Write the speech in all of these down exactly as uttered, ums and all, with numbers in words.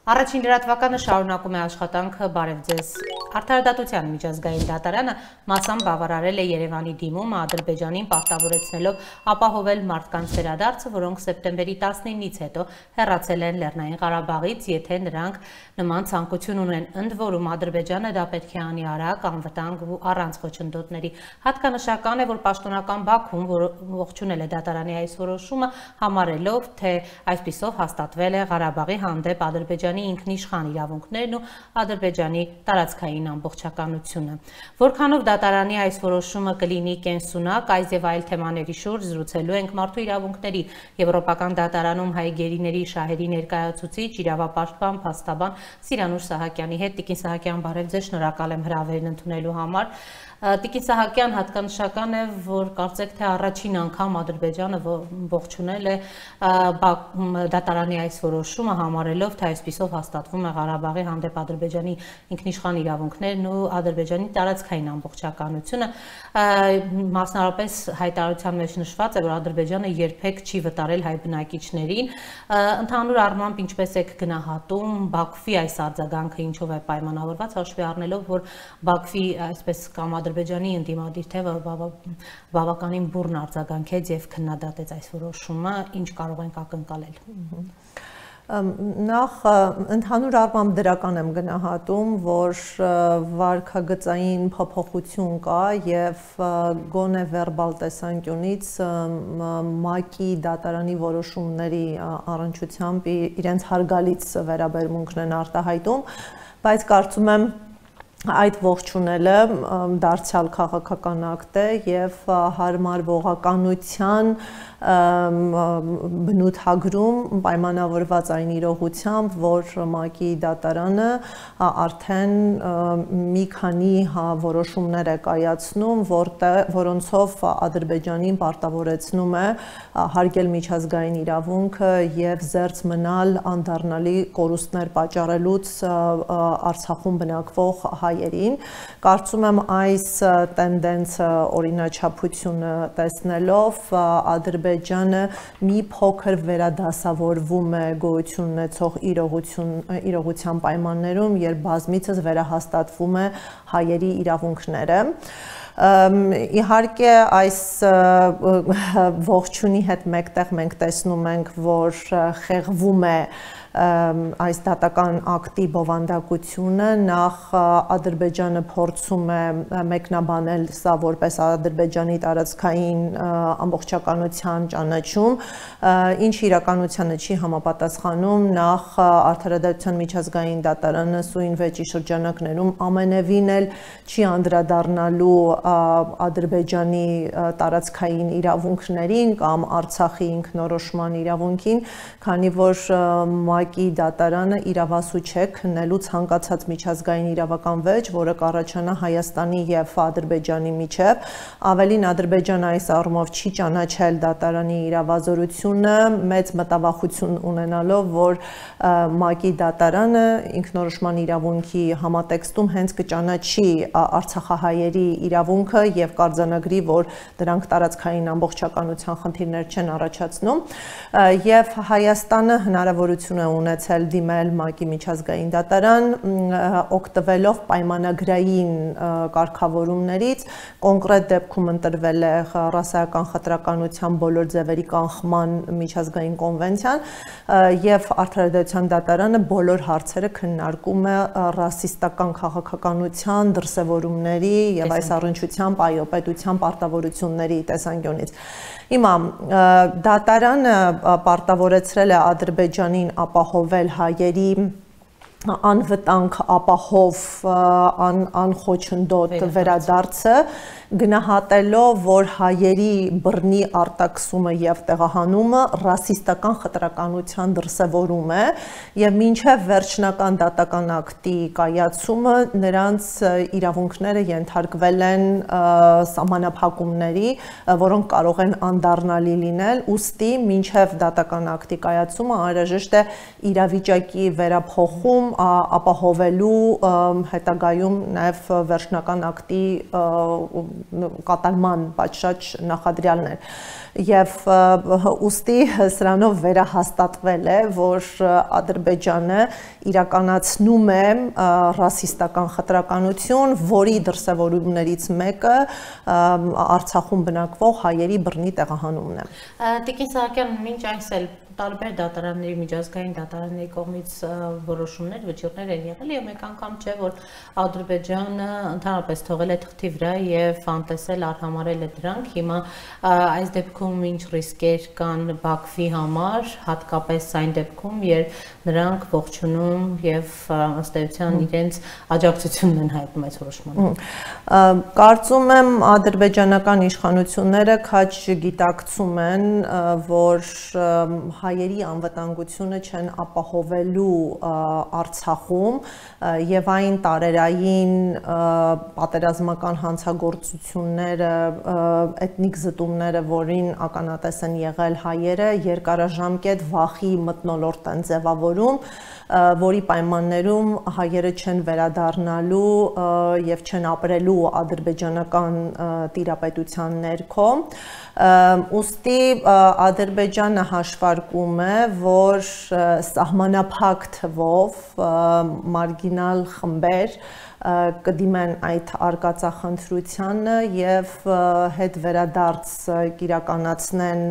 Առաջին լրատվականը շարունակում է աշխատանքը բարև ձեզ։ Արդարադատության միջազգային դատարանը մասամբ բավարարել է Երևանի դիմումը Ադրբեջանին պարտավորեցնելով ապահովել մարդկանց վերադարձը, որոնք սեպտեմբերի տասնինից հետո հեռացել են Լեռնային Ղարաբաղից, եթե նրանք նման ցանկություն ունեն, ընդ որում Ադրբեջանը դա պետք է անի արագ, անվտանգ ու առանց խոչընդոտների։ Հատկանշական է, որ պաշտոնական Բաքուն ողջունել է դատարանի այս որոշումը, համարելով, թե այսպիսով հաստատվել է Ղարաբաղի հանդեպ Ադրբեջանի ինքնիշխան իրավունքներն ու Ադրբեջանի տարածքային ամբողջականությունը։ Որքանով դատարանի այս որոշումը կլինի կենսունակ, այս եւ այլ թեմաների շուրջ զրուցելու ենք Մարդու իրավունքների Եվրոպական դատարանում հայ գերիների շահերի ներկայացուցիչ, իրավապաշտպան, փաստաբան Սիրանուշ Սահակյանի հետ։ Տիկին Սահակյան, բարև ձեզ, շնորհակալ եմ հրավերն ընդունելու համար։ Տիկին Սահակյան, հատկանշական է, որ կարծեք թե առաջին անգամ Ադրբեջանը ողջունել է դատարանի այս որոշումը, համարելով, թե այսպիսով հաստատվում է Ղարաբաղի հանդեպ Ադրբեջանի ինքնիշխան իրավունքներն ու Ադրբեջանի տարածքային ամբողջականությունը։ Մասնավորապես հայտարարության մեջ նշված է, որ Ադրբեջանը երբեք չի վտարել հայ բնակիչներին։ Ընդհանուր առմամբ ինչպես եք գնահատում Բաքվի այս արձագանքը, ինչով է պայմանավորված, հաշվի առնելով, որ Բաքվի այսպես կամ Ադրբեջանի ընդդիմադիր թևը բավականին բուռն արձագանքեց եւ քննադատեց այս որոշումը, ինչ կարող ենք ակնկալել։ Նախ ընդհանուր առմամբ դրական եմ գնահատում, որ վարքագծային փոփոխություն կա եւ գոնե վերբալ տեսանկյունից ՄԱԿ-ի դատարանի որոշումների առնչությամբ իրենց հարգալից վերաբերմունքն են արտահայտում, բայց կարծում եմ այդ ողջունելը դարձյալ քաղաքական ակտ է եւ հարմարվողականության բնութագրում պայմանավորված այն իրողությամբ, որ ՄԱԿ-ի դատարանը արդեն մի քանի որոշումներ է կայացնում, որոնցով Ադրբեջանին պարտավորեցնում է հարգել միջազգային իրավունքը եւ զերծ մնալ անդառնալի կորուստներ պատճառելուց Արցախում բնակվող հայերին։ Կարծում եմ այս տենդենսը, օրինաչափությունը տեսնելով Ադրբեջանը մի փոքր վերադասավորվում է գոյություն ունեցող իրողության պայմաններում, երբ բազմիցս վերահաստատվում է հայերի իրավունքները։ Իհարկե այս ողջունի հետ մեկտեղ մենք տեսնում ենք, որ խեղվում է այս դատական ակտի բովանդակությունը, նախ Ադրբեջանը փորձում է մեկնաբանել սա որպես Ադրբեջանի տարածքային ամբողջականության ճանաչում, ինչ իրականությանը չի համապատասխանում, նախ Արդարադատության միջազգային դատարանը սույն վեճի շրջանակներում ամենևին էլ չի անդրադառնալու Ադրբեջանի տարածքային իրավունքներին կամ Արցախի ինքնորոշման իրավունքին, քանի որ ՄԱԿ-ի դատարանը իրավասու չէ քննելու ցանկացած միջազգային իրավական վեճ, որը կառաջանա Հայաստանի եւ Ադրբեջանի միջեւ։ Ավելին, Ադրբեջանը այս առումով չի ճանաչել դատարանի իրավազորությունը, մեծ մտավախություն ունենալով, որ ՄԱԿ-ի դատարանը ինքնորոշման իրավունքի համատեքստում հենց կճանաչի արցախահայերի իրավունքը եւ կարձանագրի, որ դրանք տարածքային ամբողջականության խնդիրներ չեն առաջացնում, եւ Հայաստանը հնարավորություն է ունեցել դիմել ՄԱԿ-ի միջազգային դատարան, օգտվելով պայմանագրային կարգավորումներից, կոնկրետ դեպքում ընտրվել է ռասայական խտրականության բոլոր ձևերի կանխման միջազգային կոնվենցիան, եւ Արդարադատության դատարանը բոլոր հարցերը քննարկում է ռասիստական քաղաքականության դրսևորումների եւ այս առնչությամբ այո պետության պարտավորությունների տեսանկյունից։ Հիմա դատարանը պարտավորեցրել է Ադրբեջանին ապահովել հայերի անվտանգ ապահով անխոչնդոտ վերադարձը, գնահատելով, որ հայերի բռնի արտաքսումը եւ տեղահանումը ռասիստական խտրականության դրսևորում է եւ մինչեւ վերջնական դատական ակտի կայացումը նրանց իրավունքները ենթարկվել են սահմանափակումների, որոնք կարող են անդառնալի լինել, ուստի մինչեւ դատական ակտի կայացումը անհրաժեշտ է իրավիճակի վերափոխում ապահովելու հետագայում նաև վերջնական ակտի կատարման պատշաճ նախադրյալներ։ Եվ ուստի սրանով վերահաստատվել է, որ Ադրբեջանը իրականացնում է ռասիստական խտրականություն, որի դրսևորումներից մեկը Արցախում բնակվող հայերի բռնի տեղահանումն է։ Տիկին Սահակյան, մինչ այս էլ տարբեր դատարանների, միջազգային դատարանների կողմից որոշումներ, վճիռներ են եղել եւ մեկ անգամ չէ, որ Ադրբեջանը ընդհանրապես թողել է թղթի վրա եւ անտեսել, արհամարել է դրանք։ Հիմա այս դեպքում ինչ ռիսկեր կան Բաքվի համար, հատկապես այն դեպքում, երբ նրանք ողջունում եւ ըստ էության իրենց աջակցությունն են հայտնում այս որոշմանը։ Կարծում եմ ադրբեջանական իշխանությունները քաջ գիտակցում են, որ հայերի անվտանգությունը չեն ապահովելու Արցախում եւ այն տարերային պատերազմական հանցագործությունները, էթնիկ զտումները, որին ականատես են եղել հայերը, երկարաժամկետ վախի մթնոլորտ են ձևավորում, որի պայմաններում հայերը չեն վերադառնալու եւ չեն ապրելու ադրբեջանական տիրապետության ներքո։ Ուստի Ադրբեջանը հաշվարկում է, որ սահմանափակ թվով մարգինալ խմբեր կդիմեն այդ արկածախնդրությանը եւ հետ վերադարձ կիրականացնեն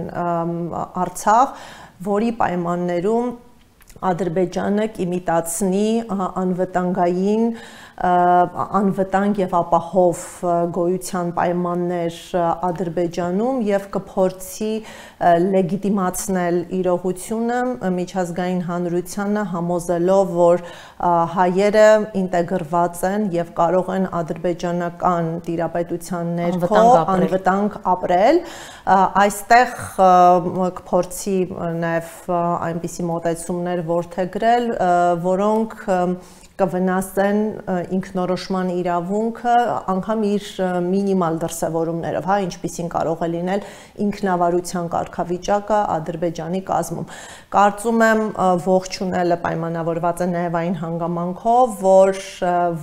Արցախ, որի պայմաններում Ադրբեջանը կիմիտացնի անվտանգային անվտանգ եւ ապահով գոյության պայմաններ Ադրբեջանում եւ կփորձի լեգիտիմացնել իրողությունը միջազգային հանրությանը համոզելով, որ հայերը ինտեգրված են եւ կարող են ադրբեջանական տիրապետության ներքո անվտանգ ապրել։ Այստեղ կփորձի նաեւ այնպիսի մոտեցումներ որդեգրել, որոնք կվնասեն ինքնորոշման իրավունքը անգամ իր մինիմալ դրսևորումներով, հա, ինչպիսին կարող է լինել ինքնավարության կարգավիճակը Ադրբեջանի կազմում։ Կարծում եմ ողջունելը պայմանավորված է նաև այն հանգամանքով, որ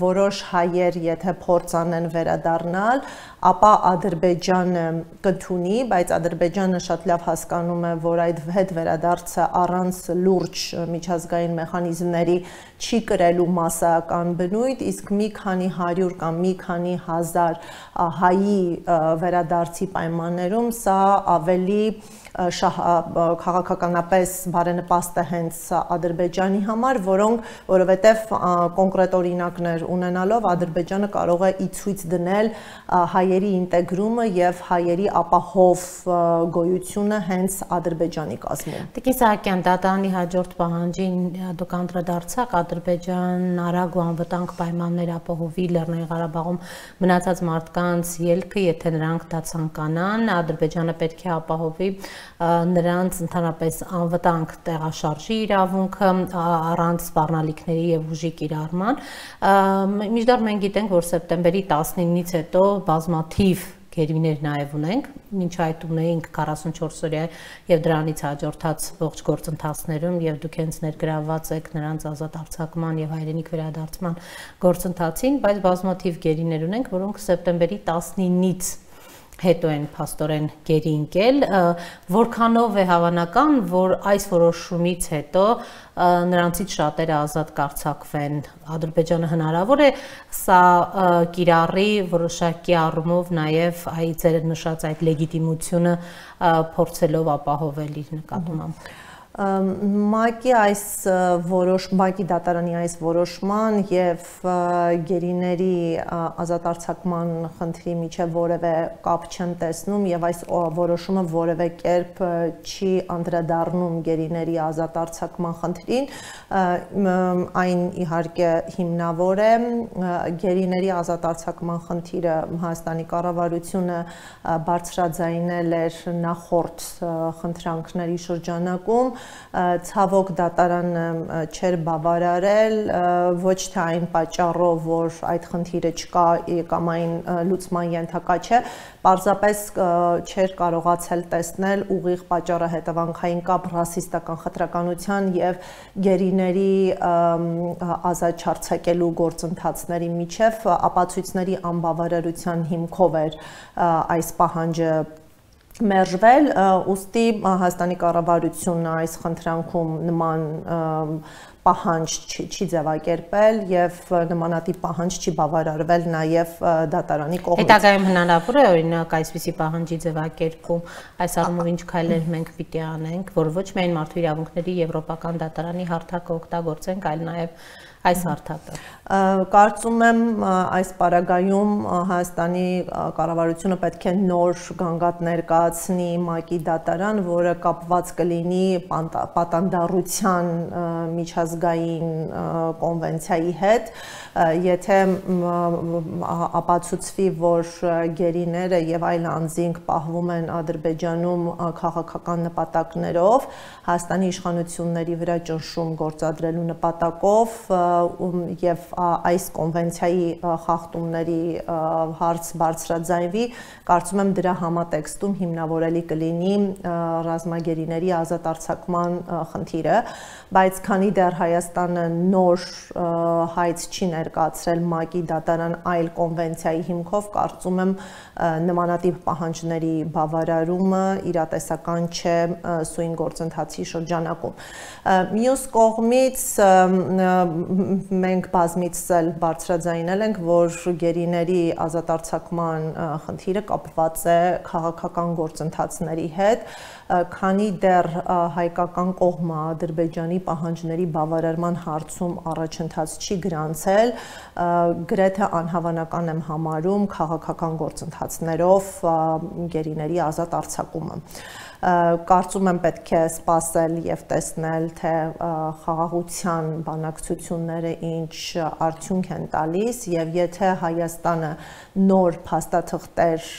որոշ հայեր, եթե փորձ անեն վերադառնալ, ապա Ադրբեջանը կընդունի, բայց Ադրբեջանը շատ լավ հասկանում է, որ այդ հետ վերադարձը առանց լուրջ միջազգային մեխանիզմների չի կրելու մասսայական բնույթ, իսկ մի քանի հարյուր կամ մի քանի հազար հայի վերադարձի պայմաններում սա ավելի քաղաքականապես բարենպաստ է հենց Ադրբեջանի համար, որոնք, որովհետև կոնկրետ օրինակներ ունենալով Ադրբեջանը կարող է ի ցույց դնել հայերի ինտեգրումը եւ հայերի ապահով գոյությունը հենց Ադրբեջանի կազմում։ Տիկին Սահակյան, դատարանի հաջորդ պահանջին դուք անդրադարձաք Ադրբեջանն արագ ու անվտանգ պայմաններ ապահովի Լեռնային Ղարաբաղում մնացած մարդկանց ելքը, եթե նրանք դա ցանկանան, Ադրբեջանը պետք է ապահովի նրանց ընդհանրապես անվտանգ տեղաշարժի իրավունքը առանց սպառնալիքների եւ ուժի կիրառման։ Միջդեռ մենք գիտենք, որ սեպտեմբերի տասնինից հետո բազմաթիվ գերիներ նաև ունենք, մինչ այդ ունեինք քառասունչորս օրյա եւ դրանից հաջորդած ողջ գործընթացներում եւ դուք հենց ներգրավված եք նրանց ազատ արձակման եւ հայրենիք վերադարձման գործընթացին, բայց բազմաթիվ գերիներ ունենք, որոնք սեպտեմբերի տասնինից հետո են փաստորեն գերի ընկել, որքանով է հավանական, որ այս որոշումից հետո նրանցից շատերը ազատ կարձակվեն։ Ադրբեջանը հնարավոր է սա կիրառի որոշակի առումով նաև այ ձեր նշած այդ լեգիտիմությունը փորձելով ապահովել իր նկատմամբ։ ՄԱԿ-ի այս որոշ ՄԱԿ-ի դատարանի այս որոշման եւ գերիների ազատ արձակման խնդրի միջև որևէ կապ չեմ տեսնում եւ այս որոշումը որևէ կերպ չի անդրադառնում գերիների ազատ արձակման խնդրին, այն իհարկե հիմնավոր է գերիների ազատ արձակման խնդիրը Հայաստանի կառավարությունը բարձրաձայնել էր նախորդ խնդրանքների շրջանակում ցավոք դատարանը չէր բավարարել ոչ թե այն պատճառով, որ այդ խնդիրը չկա կամ այն լուծման ենթակա չէ, պարզապես չէր կարողացել տեսնել ուղիղ պատճառահետևանքային կապ ռասիստական խտրականության եւ գերիների ազատ չարձակելու գործընթացների միջև ապացույցների անբավարարության հիմքով էր այս պահանջը մերժվել, ուստի Հայաստանի կառավարությունը այս խնդրանքում նման պահանջ չի ձևակերպել եւ նմանատիպ պահանջ չի բավարարվել նաեւ դատարանի կողմից։ Հետագայում հնարավոր է օրինակ այսպիսի պահանջի ձևակերպում, այս առումով ինչ քայլեր մենք պիտի անենք, որ ոչ միայն մարդու իրավունքների եվրոպական դատարանի հարթակը օգտագործենք, այլ նաեւ այս հարթակը։ Կարծում եմ այս պարագայում Հայաստանի կառավարությունը պետք է նոր գանգատ ներկայացնի ՄԱԿ-ի դատարան, որը կապված կլինի պատանդառության միջազգային կոնվենցիայի հետ, եթե ապացուցվի, որ գերիները եւ այլ անձինք պահվում են Ադրբեջանում քաղաքական նպատակներով, Հայաստանի իշխանությունների վրա ճնշում գործադրելու նպատակով եւ այս կոնվենցիայի խախտումների հարց բարձրաձայնվի, կարծում եմ դրա համատեքստում հիմնավորելի կլինի ռազմագերիների ազատ արձակման խնդիրը, բայց քանի դեռ Հայաստանը նոր հայց չի ներկայացրել ՄԱԿ-ի դատարան այլ կոնվենցիայի հիմքով, կարծում եմ նմանատիպ պահանջների բավարարումը իրատեսական չէ սույն գործընթացի շրջանակում։ Մյուս կողմից մենք բազմիցս էլ բարձրաձայնել ենք, որ գերիների ազատարձակման խնդիրը կապված է քաղաքական գործընթացների հետ, քանի դեռ հայկական կողմը Ադրբեջանի պահանջների բավարարման հարցում առաջընթաց չի գրանցել, գրեթե անհավանական եմ համարում քաղաքական գործընթացներով գերիների ազատ արձակումը։ Կարծում եմ պետք է սպասել եւ տեսնել, թե խաղաղության բանակցությունները ինչ արդյունք են տալիս եւ եթե Հայաստանը նոր փաստաթղթեր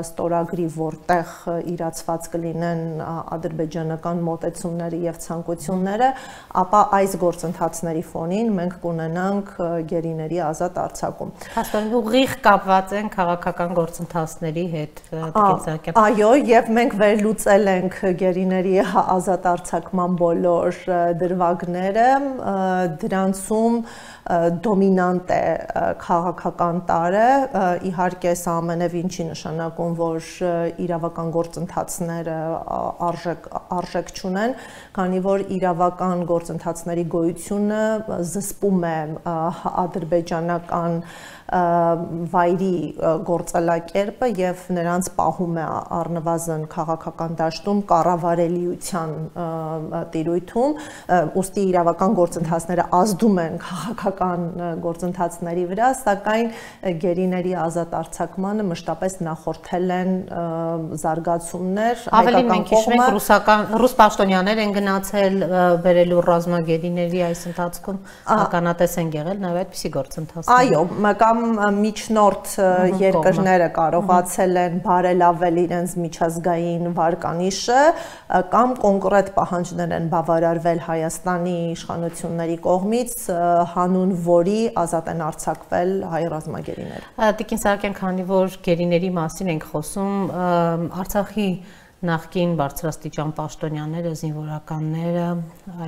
ստորագրի, որտեղ իրացված կլինեն ադրբեջանական մոտեցումները եւ ցանկությունները, ապա այս գործընթացների ֆոնին մենք կունենանք գերիների ազատ արձակում։ Հաստատ ուղիղ կապված են քաղաքական գործընթացների հետ, դեպի Այո, եւ մենք վերլուծել ենք գերիների ազատ արձակման բոլոր դրվագները, դրանցում դոմինանտ է քաղաքական տարը, իհարկե սա ամենևին չի նշանակում, որ իրավական գործընթացները արժեք, արժեք չունեն, քանի որ իրավական գործընթացների գոյությունը զսպում է ադրբեջանական վայրի գործելակերպը եւ նրանց պահում է առնվազն քաղաքական դաշտում կառավարելիության տիրույթում, ուստի իրավական գործընթացները ազդում են քաղաքական գործընթացների վրա, սակայն գերիների ազատ արձակմանը մշտապես նախորդել են զարգացումներ, հայկական մենք հիշում ենք ռուսական ռուս պաշտոնյաներ են գնացել բերելու ռազմագերիների այս ընթացքում ականատես են եղել նաեւ այդպիսի գործընթացներ։ Այո, կամ միջնորդ երկրները կարողացել են բարելավել իրենց միջազգային վարկանիշը կամ կոնկրետ պահանջներ են բավարարվել Հայաստանի իշխանությունների կողմից, հանուն որի ազատ են արձակվել հայ ռազմագերիները։ Տիկին Սահակյան, քանի որ գերիների մասին ենք խոսում, Արցախի նախկին բարձրաստիճան պաշտոնյաները, զինվորականները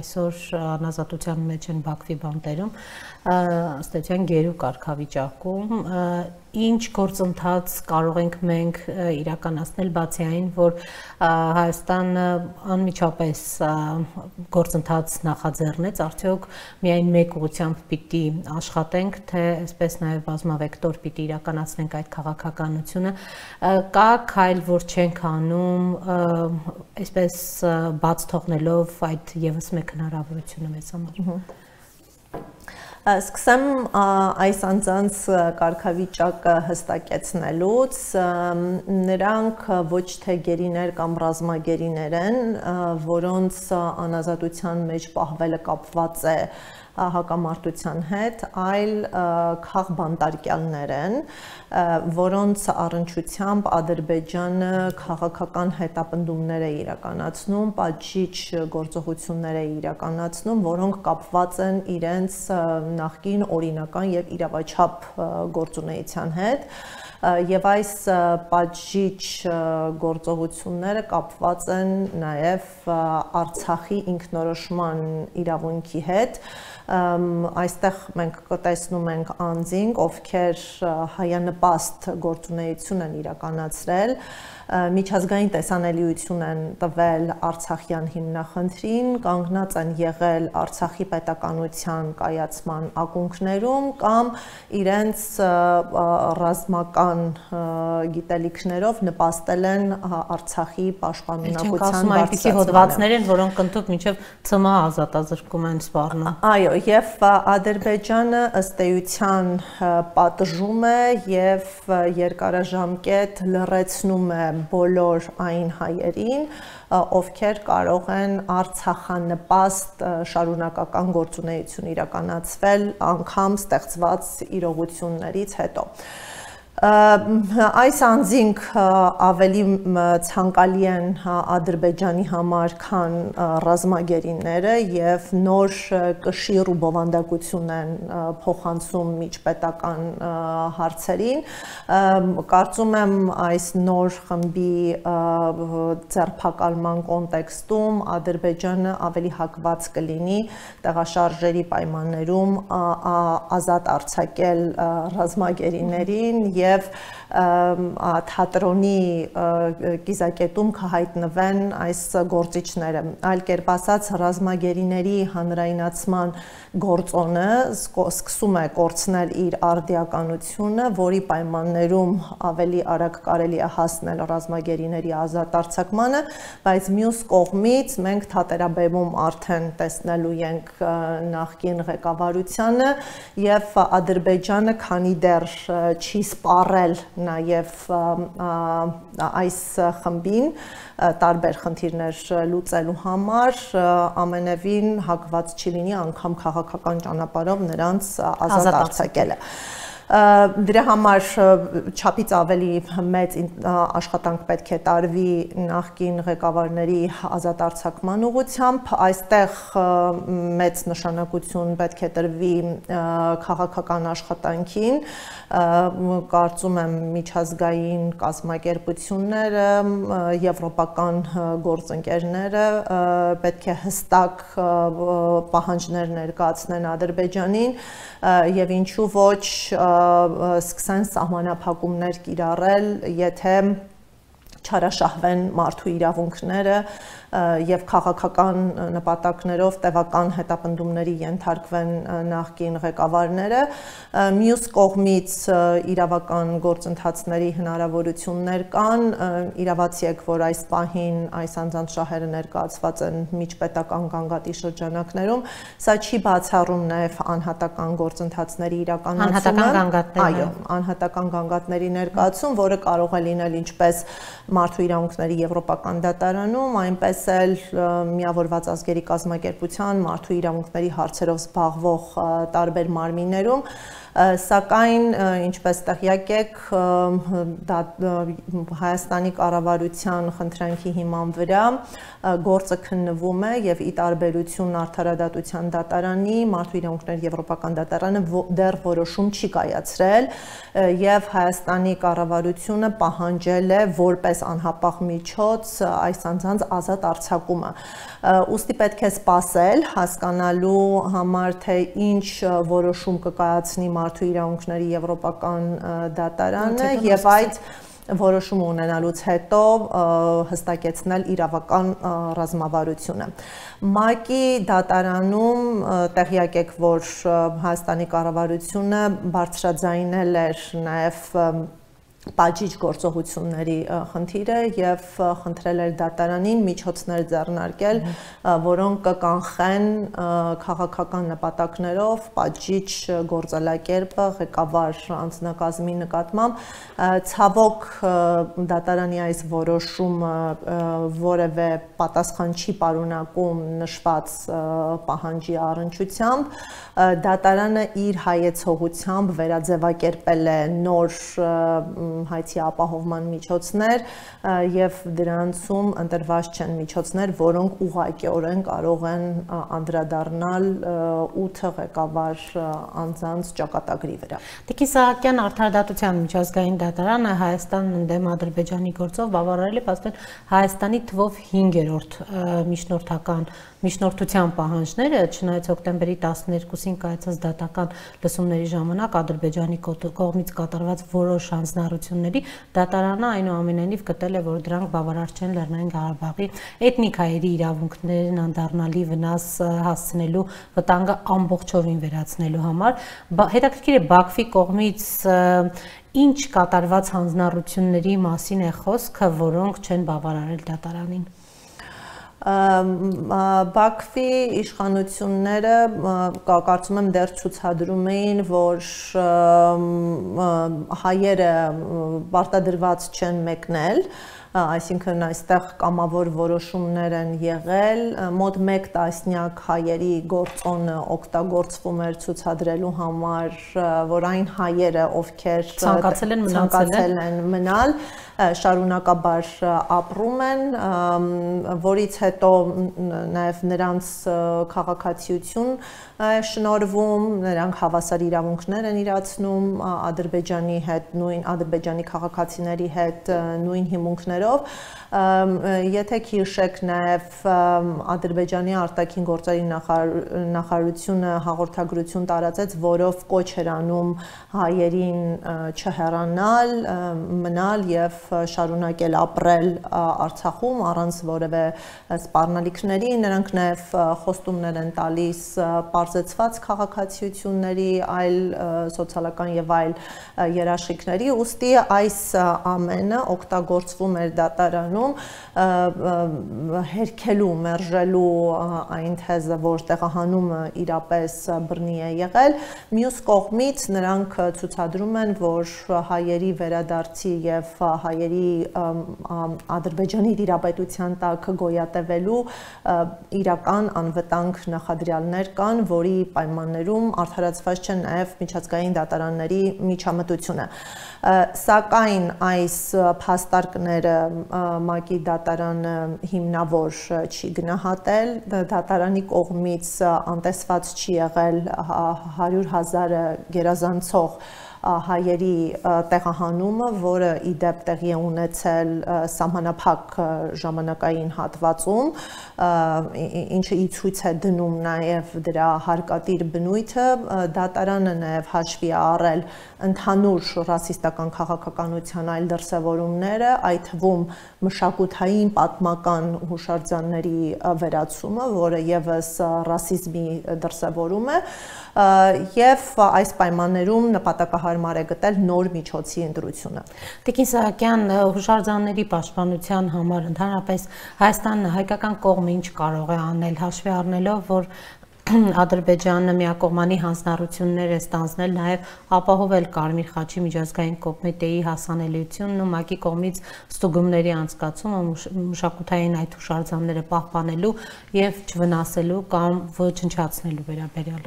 այսօր անազատության մեջ են Բաքվի բանտերում, ըստ էության գերու կարգավիճակում, ինչ գործընթաց կարող ենք մենք իրականացնել բացի այն, որ Հայաստանը անմիջապես գործընթաց նախաձեռնեց, արդյոք միայն մեկ ուղղությամբ պիտի աշխատենք, թե այսպես նաև բազմավեկտոր պիտի իրականացնենք այդ քաղաքականությունը, կա քայլ, որ չենք անում, այսպես բաց թողնելով այդ եւս մեկ հնարավորությունը մեզ համար։ Սկսեմ այս անձանց կարգավիճակը հստակեցնելուց, նրանք ոչ թե գերիներ կամ ռազմագերիներ են, որոնց անազատության մեջ պահվելը կապված է հակամարտության հետ, այլ քաղբանտարկյալներ են, որոնց առնչությամբ Ադրբեջանը քաղաքական հետապնդումներ է իրականացնում, պատժիչ գործողություններ է իրականացնում, որոնք կապված են իրենց նախկին օրինական եւ իրավաչափ գործունեության հետ, եւ այս պատժիչ գործողությունները կապված են նաեւ Արցախի ինքնորոշման իրավունքի հետ, այստեղ մենք կտեսնում ենք անձինք, ովքեր հայանպաստ գործունեություն են իրականացրել, միջազգային տեսանելիություն են տվել Արցախյան հիմնախնդրին, կանգնած են եղել Արցախի պետականության կայացման ակունքներում կամ իրենց ռազմական գիտելիքներով նպաստել են Արցախի պաշտպանունակության բարձրացմանը։ Այսպիսի հոդվածներ են, որոնք ընդհանուր մինչև ՑՄՀ ազատազրկում են սպառնում։ Այո, եւ Ադրբեջանը ըստ էության պատժում է եւ երկարաժամկետ լռեցնում է բոլոր այն հայերին, ովքեր կարող են արցախանպաստ շարունակական գործունեություն իրականացվել անգամ ստեղծված իրողություններից հետո։ Այս անձինք ավելի ցանկալի են Ադրբեջանի համար, քան ռազմագերիները եւ նոր կշիռ ու բովանդակություն են փոխանցում միջպետական հարցերին։ Կարծում եմ այս նոր խմբի ձերբակալման կոնտեքստում Ադրբեջանը ավելի հակված կլինի տեղաշարժերի պայմաններում ազատ արձակել ռազմագերիներին եւ եւ թատրոնի կիզակետում կհայտնվեն այս գործիչները։ Այլ կերպ ասած, ռազմագերիների հանրայնացման գործոնը սկսում է կորցնել իր արդիականությունը, որի պայմաններում ավելի արագ կարելի է հասնել ռազմագերիների ազատ արձակմանը, բայց մյուս կողմից մենք թատերաբեմում արդեն տեսնելու ենք նախկին ղեկավարությանը եւ Ադրբեջանը, քանի դեռ չի սպառել նաև այս խմբին տարբեր խնդիրներ լուծելու համար, ամենևին հակված չի լինի անգամ քաղաքական ճանապարհով նրանց ազատ արձակելը։ Դրա համար չափից ավելի մեծ աշխատանք պետք է տարվի նախկին ղեկավարների ազատ արձակման ուղղությամբ, այստեղ մեծ նշանակություն պետք է տրվի քաղաքական աշխատանքին, կարծում եմ միջազգային կազմակերպությունները, եվրոպական գործընկերները պետք է հստակ պահանջներ ներկայացնեն Ադրբեջանին եւ ինչու ոչ սկսեն սահմանափակումներ կիրառել, եթե չարաշահվեն մարդու իրավունքները եւ քաղաքական նպատակներով տևական հետապնդումների ենթարկվեն նախկին ղեկավարները, մյուս կողմից իրավական գործընթացների հնարավորություններ կան, իրավացի եք, որ այս պահին այս անձանց շահերը ներկայացված են միջպետական գանգատի շրջանակներում, սա չի բացառում նաեւ անհատական գործընթացների իրականացումը, այո, անհատական գանգատների ներկայացում, որը կարող է լինել ինչպես մարդու իրավունքների եվրոպական դատարանում, այնպես էլ միավորված ազգերի կազմակերպության մարդու իրավունքների հարցերով զբաղվող տարբեր մարմիններում, սակայն ինչպես տեղյակ եք, Հայաստանի կառավարության խնդրանքի հիման վրա գործը քննվում է եւ ի տարբերություն Արդարադատության դատարանի, մարդու իրավունքների եվրոպական դատարանը դեռ որոշում չի կայացրել եւ Հայաստանի կառավարությունը պահանջել է որպես անհապաղ միջոց այս անձանց ազատ արձակումը։ Ուստի պետք է սպասել հասկանալու համար, թե ինչ որոշում կկայացնի մարդու իրավունքների եվրոպական դատարանը եւ այդ որոշում ունենալուց հետո հստակեցնել իրավական ռազմավարությունը։ ՄԱԿ-ի դատարանում տեղյակ եք, որ Հայաստանի կառավարությունը բարձրաձայնել էր նաև բաժիջ գործողությունների խնդիրը եւ խնդրել էր դատարանին միջոցներ ձեռնարկել, որոնք կկանխեն քաղաքական նպատակներով բաժիջ գործելակերպը ղեկավար անձնակազմի նկատմամբ։ Ցավոք դատարանի այս որոշումը որևէ պատասխան չի պարունակում նշված պահանջի առնչությամբ։ Դատարանը իր հայեցողությամբ վերաձևակերպել է նոր հայցի ապահովման միջոցներ եւ դրանցում ընտրված չեն միջոցներ, որոնք ուղղակիորեն կարող են անդրադառնալ ութ ղեկավար անձանց ճակատագրի վրա։ Տիկին Սահակյան, Արդարադատության միջազգային դատարանը Հայաստանն ընդդեմ Ադրբեջանի գործով բավարարել է փաստորեն Հայաստանի թվով հինգերորդ միջնորդական միջնորդության պահանջները, չնայած հոկտեմբերի տասներկուսին կայացած դատական լսումների ժամանակ Ադրբեջանի կողմից կատարված որոշ հանձնառությունների դատարանը այնուամենայնիվ գտել է, որ դրանք բավարար չեն Լեռնային Ղարաբաղի էթնիկայերի իրավունքներին անդառնալի վնաս հասցնելու վտանգը ամբողջովին վերացնելու համար։ Հետաքրքիր է Բաքվի կողմից ինչ կատարված հանձնառությունների մասին է խոսքը, որոնք չեն բավարարել դատարանին։ Բաքվի իշխանությունները կարծում եմ դեռ ցուցադրում էին, որ հայերը պարտադրված չեն մեկնել, այսինքն այստեղ կամավոր որոշումներ են եղել, մոտ մեկ տասնյակ հայերի գործոնը օգտագործվում էր ցուցադրելու համար, որ այն հայերը, ովքեր ցանկացել են ցանկացել են մնալ, շարունակաբար ապրում են, որից հետո նաև նրանց քաղաքացիություն շնորհվում, նրանք հավասար իրավունքներ են իրացնում Ադրբեջանի հետ, նույն Ադրբեջանի քաղաքացիների հետ նույն հիմունքներով։ Եթե քիշեք նաև Ադրբեջանի արտաքին գործերի նախարարությունը հաղորդագրություն տարածեց, որով կոչ էր անում հայերին չհեռանալ, մնալ եւ շարունակել ապրել Արցախում առանց որևէ սպառնալիքների, նրանք նաև խոստումներ են տալիս պարզեցված քաղաքացիությունների, այլ սոցիալական եւ այլ երաշխիքների, ուստի այս ամենը օգտագործվում էր դատարանում հերքելու, մերժելու այն թեզը, որ տեղահանումը իրապես բռնի է եղել, մյուս կողմից նրանք ցուցադրում են, որ հայերի վերադարձի եւ հայերի Ադրբեջանի դիրապետության տակ գոյատևելու իրական անվտանգ նախադրյալներ կան, որի պայմաններում արդարացված չէ նաև միջազգային դատարանների միջամտությունը։ Սակայն այս փաստարկները ՄԱԿ-ի դատարանը հիմնավոր չի գնահատել, դատարանի կողմից անտեսված չի եղել հարյուր հազարը գերազանցող հայերի տեղահանումը, որը ի դեպ տեղի է ունեցել սահմանափակ ժամանակային հատվածում, ինչը ի ցույց է դնում նաև դրա հարկատիր բնույթը, դատարանը նաև հաշվի է առել ընդհանուր ռասիստական քաղաքականության այլ դրսևորումները, այդ թվում մշակութային պատմական հուշարձանների վերացումը, որը ևս ռասիզմի դրսևորում է, եւ այս պայմաններում նպատակահարմար է գտել նոր միջոցի ընտրությունը։ Տիկին Սահակյան, հուշարձանների պաշտպանության համար ընդհանրապես Հայաստանը հայկական կողմը ինչ կարող է անել, հաշվի առնելով, որ Ադրբեջանը միակողմանի հանձնառություններ է ստանձնել նաև ապահովել Կարմիր խաչի միջազգային կոմիտեի հասանելիությունն ու ՄԱԿ-ի կողմից ստուգումների անցկացումը մշակութային այդ հուշարձանները պահպանելու եւ չվնասելու կամ ոչնչացնելու վերաբերյալ։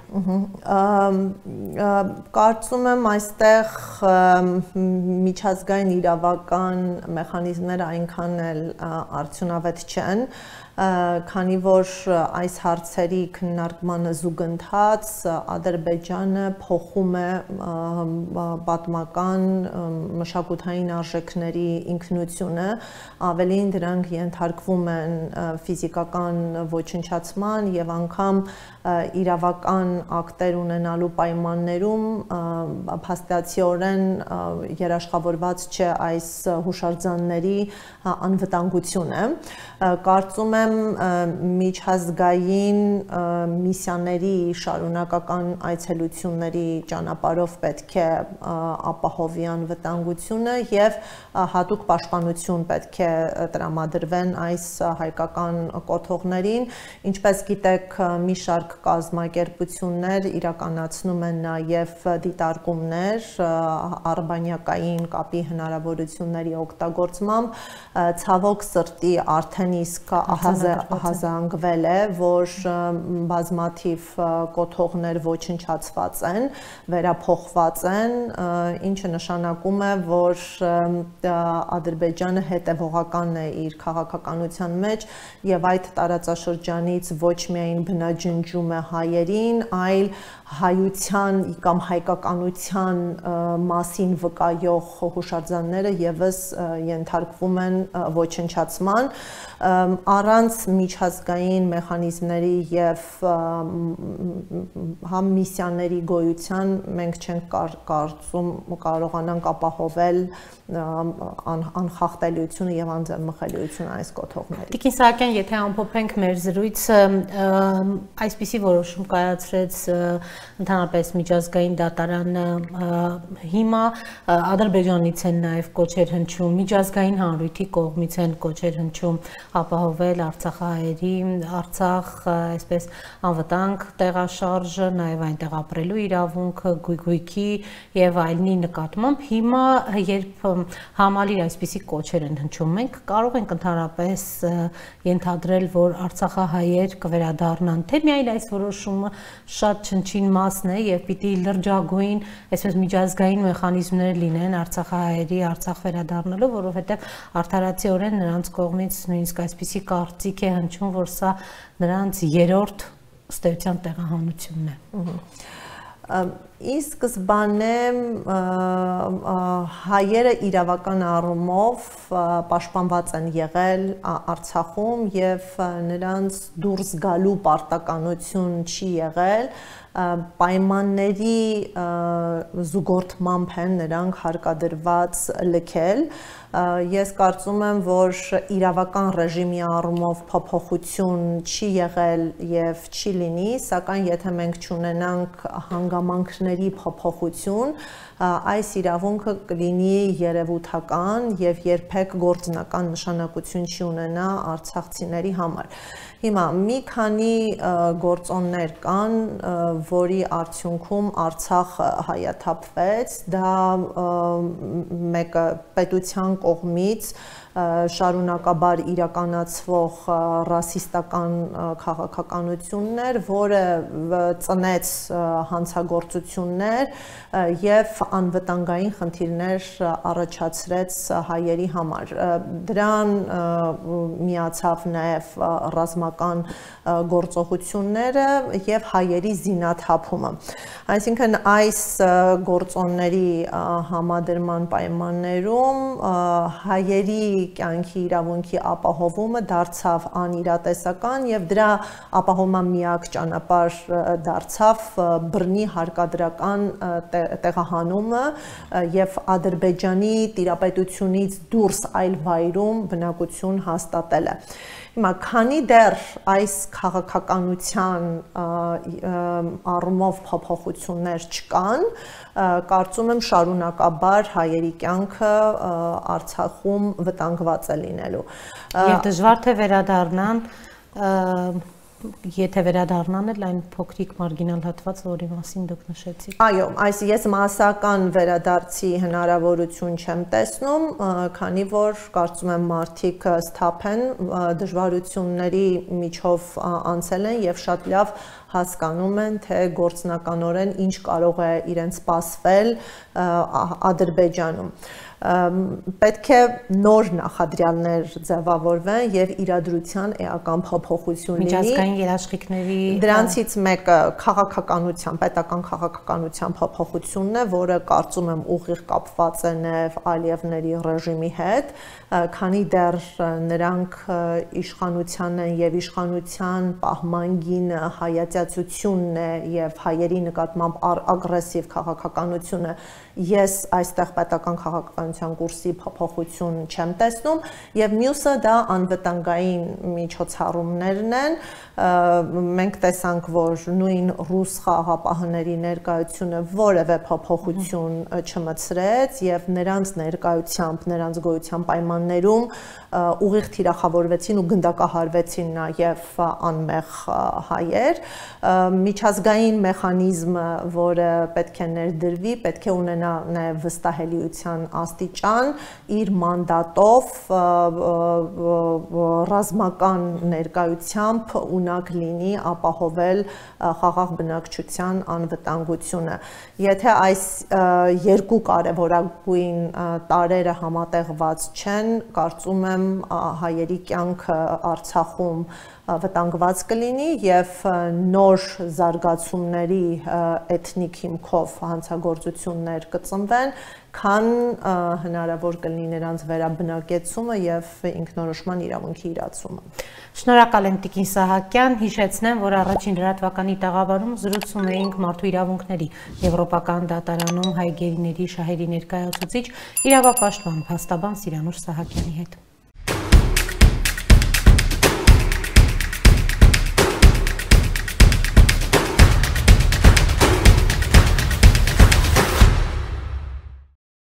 Կարծում եմ այստեղ միջազգային իրավական մեխանիզմները այնքան էլ արդյունավետ չեն, քանի որ այս հարցերի քննարկմանը զուգընթաց Ադրբեջանը փոխում է պատմական մշակութային արժեքների ինքնությունը, ավելին դրանք ենթարկվում են ֆիզիկական ոչնչացման եւ անգամ իրավական ակտեր ունենալու պայմաններում փաստացիորեն երաշխավորված չէ այս հուշարձանների անվտանգությունը։ Կարծում եմ միջազգային միսիաների շարունակական այցելությունների ճանապարհով պետք է ապահովի անվտանգությունը եւ հատուկ պաշտպանություն պետք է տրամադրվեն այս հայկական կոթողներին, ինչպես գիտեք, մի շարք կազմակերպություններ իրականացնում են նաեւ դիտարկումներ արբանյակային կապի հնարավորությունների օգտագործմամբ, ցավոք սրտի արդեն իսկ ահազանգվել է, որ բազմաթիվ կոթողներ ոչնչացված են, վերափոխված են, ինչը նշանակում է, որ Ադրբեջանը հետևողական է իր քաղաքականության մեջ եւ այդ տարածաշրջանից ոչ միայն բնաջնջում է հայերին, այլ հայության կամ հայկականության մասին վկայող հուշարձանները եւս ենթարկվում են ոչնչացման առանց միջազգային մեխանիզմների եւ համ միսիաների գոյության մենք չենք կարծում կարողանանք ապահովել անխախտելիությունը եւ անձեռնմխելիությունը այս կոթողների։ Տիկին Սահակյան, եթե ամփոփենք մեր զրույցը, այսպիսի որոշում կայացրեց ընդհանրապես միջազգային դատարանը, հիմա Ադրբեջանից են նաև կոչեր հնչում, միջազգային հանրույթի կողմից են կոչեր հնչում ապահովել արցախահայերի, Արցախ, այսպես անվտանգ տեղաշարժը, նաև այնտեղ ապրելու իրավունքը, գույգույքի եւ այլնի նկատմամբ, հիմա երբ համալիր այսպիսի կոչեր են հնչում, մենք կարող ենք ընդհանրապես ենթադրել, որ արցախահայեր կվերադառնան, թե միայն այս որոշումը շատ չնչին մասն է եւ պիտի լրջագույն, այսպես միջազգային մեխանիզմներ լինեն արցախահայերի Արցախ վերադառնալու, որովհետեւ արդարացիորեն նրանց կողմից նույնիսկ այսպիսի կարծիք է հնչում, որ սա նրանց երրորդ ըստ տեղահանությունն է։ Ի սկզբանե հայերը իրավական առումով պաշտպանված են եղել Արցախում եւ նրանց դուրս գալու պարտականություն չի եղել, պայմանների զուգորդմամբ են նրանք հարկադրված լքել։ Ես կարծում եմ, որ իրավական ռեժիմի առումով փոփոխություն չի եղել եւ չի լինի, սակայն եթե մենք չունենանք հանգամանքների փոփոխություն, այս իրավունքը կլինի երևութական եւ երբեք գործնական նշանակություն չի ունենա արցախցիների համար։ Հիմա մի քանի գործոններ կան, որի արդյունքում Արցախ հայաթափվեց, դա մեկը պետության կողմից շարունակաբար իրականացվող ռասիստական քաղաքականություններ, որը ծնեց հանցագործություններ եւ անվտանգային խնդիրներ առաջացրեց հայերի համար։ Դրան միացավ նաեւ ռազմական գործողությունները եւ հայերի զինաթափումը։ Այսինքն այս գործոնների համադրման պայմաններում հայերի կյանքի իրավունքի ապահովումը դարձավ անիրատեսական եւ դրա ապահովման միակ ճանապարհ դարձավ բռնի հարկադրական տեղահանումը եւ Ադրբեջանի տիրապետությունից դուրս այլ վայրում բնակություն հաստատելը։ Հիմա քանի դեռ այս քաղաքականության առումով փոփոխություններ չկան, կարծում եմ շարունակաբար հայերի կյանքը Արցախում վտանգված է լինելու։ Եվ դժվար թե վերադառնան, եթե վերադառնան էլ այն փոքրիկ մարգինալ հատված, որի մասին դուք նշեցիք։ Այո, այս ես մասսական վերադարձի հնարավորություն չեմ տեսնում, քանի որ կարծում եմ մարդիկ սթափ են, դժվարությունների միջով անցել են եւ շատ լավ հասկանում են, թե գործնականորեն ինչ կարող է իրենց սպասվել Ադրբեջանում։ Պետք է նոր նախադրյալներ ձևավորվեն եւ իրադրության էական փոփոխություն լինի։ Միջազգային երաշխիքների դրանցից մեկը քաղաքականության, պետական քաղաքականության փոփոխությունն է, որը կարծում եմ ուղիղ կապված է նաեւ Ալիևների ռեժիմի հետ, քանի դեռ նրանք իշխանության են եւ իշխանության պահման գինը հայատյա դիֆերենցիացիությունն է եւ հայերի նկատմամբ ագրեսիվ քաղաքականությունը, ես այստեղ պետական քաղաքականության կուրսի փոփոխություն չեմ տեսնում եւ մյուսը դա անվտանգային միջոցառումներն են։ Մենք տեսանք, որ նույն ռուս խաղաղապահների ներկայությունը որևէ փոփոխություն չմցրեց եւ նրանց ներկայությամբ, նրանց գոյության պայմաններում ուղիղ թիրախավորվեցին ու գնդակահարվեցին նաեւ անմեղ հայեր։ Միջազգային մեխանիզմը, որը պետք է ներդրվի, պետք է ունենա նաեւ վստահելիության աստիճան, իր մանդատով ռազմական ներկայությամբ ունակ լինի ապահովել խաղաղ բնակչության անվտանգությունը։ Եթե այս երկու կարևորագույն տարրերը համատեղված չեն, կարծում եմ հայերի կյանքը Արցախում վտանգված կլինի եւ նոր զարգացումների էթնիկ հիմքով հանցագործություններ կծնվեն, քան հնարավոր կլինի նրանց վերաբնակեցումը եւ ինքնորոշման իրավունքի իրացումը։ Շնորհակալ եմ Տիկին Սահակյան, հիշեցնեմ, որ առաջին լրատվականի տաղավարում զրուցում էինք մարդու իրավունքների Եվրոպական դատարանում հայ գերիների շահերի ներկայացուցիչ իրավապաշտպան փաստաբան Սիրանուշ Սահակյանի հետ։